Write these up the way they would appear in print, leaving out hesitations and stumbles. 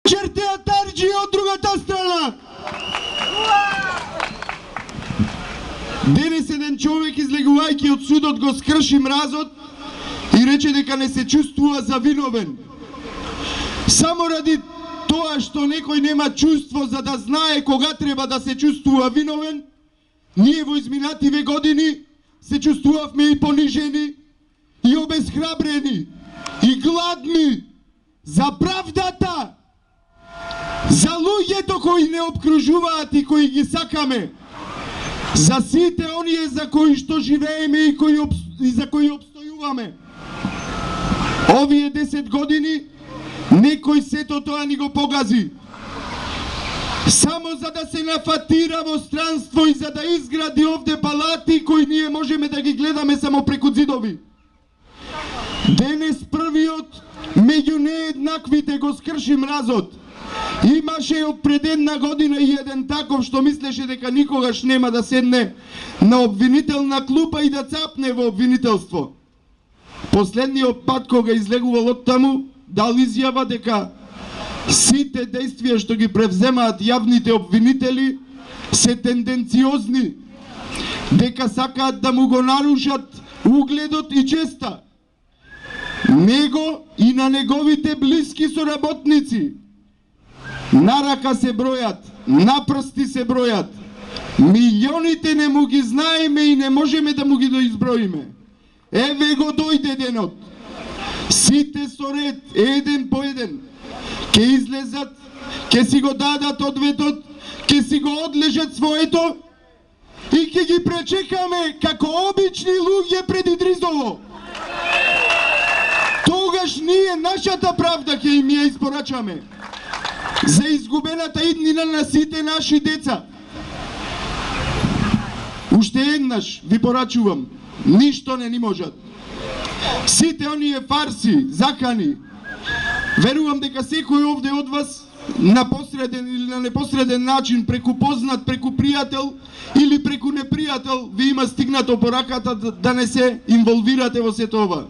Чертеа Тарџи од другата страна. Денес еден човек излегувајќи од судот го скрши мразот и рече дека не се чувствува завиновен. Само ради тоа што некој нема чувство за да знае кога треба да се чувствува виновен, ние во изминативе години се чувствувавме и понижени, и обезхрабрени, и гладни за правдата, за луѓето кои не обкружуваат и кои ги сакаме, за сите оние за кои што живееме и за кои обстојуваме. Овие 10 години некој сето тоа ни го погази. Само за да се нафатира во странство и за да изгради овде палати кои ние можеме да ги гледаме само преку зидови. Денес првиот меѓу нееднаквите го скрши мразот. Имаше од пред една година и еден таков што мислеше дека никогаш нема да седне на обвинителна клупа и да цапне во обвинителство. Последниот пат кога излегувал од таму, дал изјава дека сите действија што ги превземаат јавните обвинители се тенденциозни, дека сакаат да му го нарушат угледот и честа. Него и на неговите блиски соработници. На рака се бројат, на прсти се бројат. Милионите не му ги знаеме и не можеме да му ги доизброиме. Еве го дојде денот. Сите со ред, еден по еден, ке излезат, ке си го дадат одветот, ке си го одлежат своето и ке ги пречекаме како обични луѓе пред Идризово. Тогаш ние нашата правда ќе им ја испорачаме за изгубената иднина на сите наши деца. Уште еднаш ви порачувам, ништо не ни можат. Сите оние фарси, закани, верувам дека секој овде од вас на посреден или на непосреден начин, преку познат, преку пријател или преку непријател, ви има стигнато по раката да не се инволвирате во сето ова.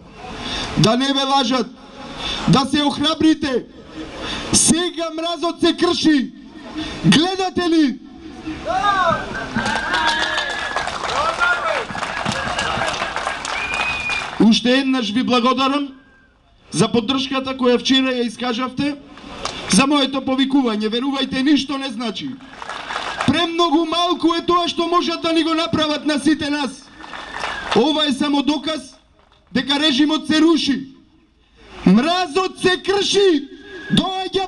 Да не ве лажат, да се охрабрите. Сега мразот се крши. Гледате ли? Уште еднаш ви благодарам за поддршката која вчера ја искажавте, за моето повикување. Верувајте, ништо не значи. Премногу малку е тоа што можат да ни го направат на сите нас. Ова е само доказ дека режимот се руши. Мразот се крши. Доаѓа